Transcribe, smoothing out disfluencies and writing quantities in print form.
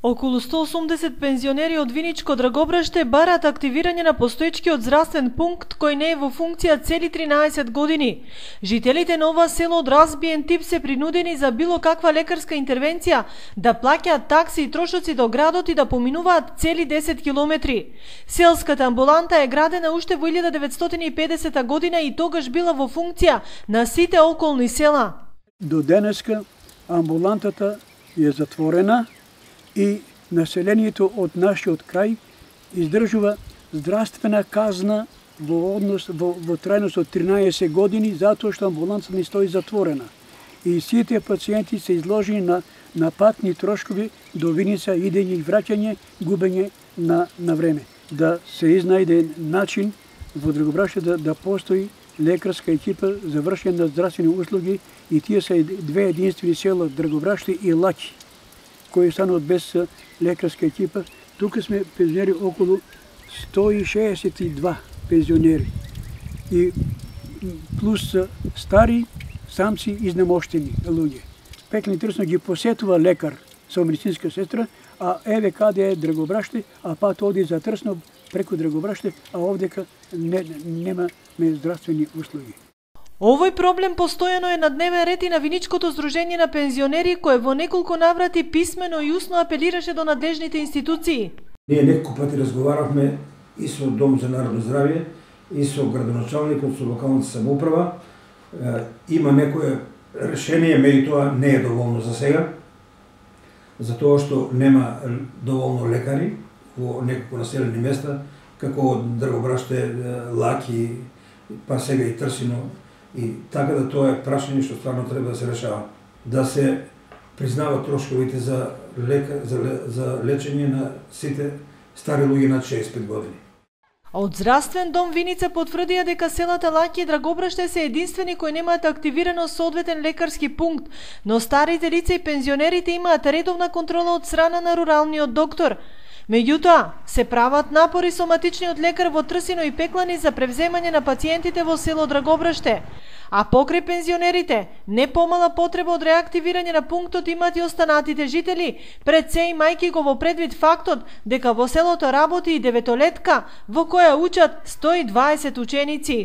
Околу 180 пензионери од Виничко Драгобраште бараат активирање на постоечкиот здравствен пункт кој не е во функција цели 13 години. Жителите на ова село од разбиен тип се принудени за било каква лекарска интервенција да плаќаат такси и трошоци до градот и да поминуваат цели 10 километри. Селската амбуланта е градена уште во 1950 година и тогаш била во функција на сите околни села. До денеска амбулантата е затворена и населението од нашиот крај издржува здравствена казна во трајност од 13 години затоа што амбулантата не стои затворена. И сите пациенти се изложени на патни трошкови до Виница, идење и враќање, губење на време. Да се изнајде начин во Драгобраште да постои лекарска екипа за вршење на здравствени услуги и тие се две единствени села, Драгобраште и Лаки, кои стануваат без лекарска екипа. Тука сме пензионери околу 162 пензионери и плюс стари самци изнемоштени луѓе. Пекни трсно ги посетува лекар со медицинска сестра, а еве каде е Драгобраште, а пат оди за Трсно преку Драгобраште, а овдека нема здравствени услуги. Овој проблем постојано е на дневен ред и на Виничкото здружение на пензионери, кое во неколку наврати писмено и усно апелираше до надлежните институции. Ние неколку пати разговаравме и со Дом за народно здравје, и со градоначалникот, со локалната самоуправа. Има некое решение, меѓу тоа не е доволно за сега, затоа што нема доволно лекари во неколку населени места, како од Драгобраште, Лаки, па сега и Трсино. И така да тоа е прашање што стварно треба да се решава. Да се признават трошковите за лечење на сите стари луѓе над 65 години. Од Здравствен дом Виница потврдија дека селата Лаки и Драгобраште се единствени кои немаат активирано соодветен лекарски пункт, но старите лица и пензионерите имаат редовна контрола од страна на руралниот доктор. Меѓутоа, се прават напори со матичниот лекар во Трсино и Пеклани за превземање на пациентите во село Драгобраште. А покрај пензионерите, не помала потреба од реактивирање на пунктот имат и останатите жители, пред се имајќи го во предвид фактот дека во селото работи и деветолетка во која учат 120 ученици.